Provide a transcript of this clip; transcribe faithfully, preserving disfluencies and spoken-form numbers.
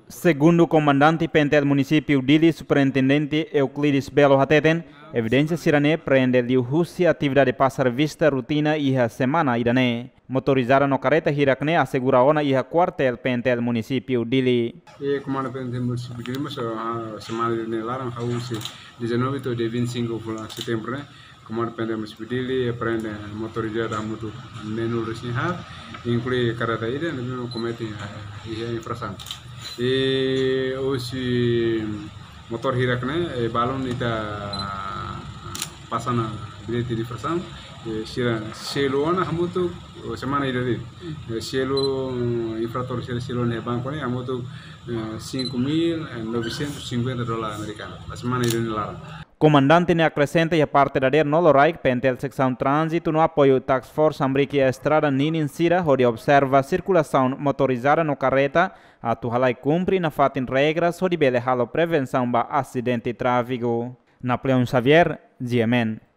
Segundu Komandante PNTL Munisípiu Dili, Superintendente Euclides Belo hateten, evidénsia sira-ne'e prende liuhusi atividade pasa revista rutina iha semana ida-ne'e. Motorizada no karreta hirak-ne'e asegura ona iha kuartél PNTL Munisípiu Dili. E Komandante PNTL Munisípiu Dili mós, ah, semana ida-ne'e laran, hahú husi dezanove to'o dia vinte e cinco fulan setembru ne'e, Komandante PNTL Munisípiu Dili prende motorizada hamutuk neenulu resin haat, inklui karreta ida, ne'ebé komete, eh, iha infrasaun. E husi motór hirak-ne'e, eh, balun ita pasa ona bilhete de infrasaun, eh, sira selu ona hamutuk, oh, semana ida de'it. Eh, selu, infratór sira selu ona iha banku ne'e hamutuk, eh, cinco mil novecentos e cinquenta dólar amerikanu. Ba semana ida-ne'e laran. Komandante ne'e akresenta iha parte dadeer no loraik PNTL Seksaun Tránzitu no apoiu Task Force hamriik iha estrada ninin sira hodi observa sirkulasaun motorizada no karreta atu halai kumpre nafatin regras hodi bele halo prevensaun ba asidente tráfiku. Napoleão Xavier, GMN.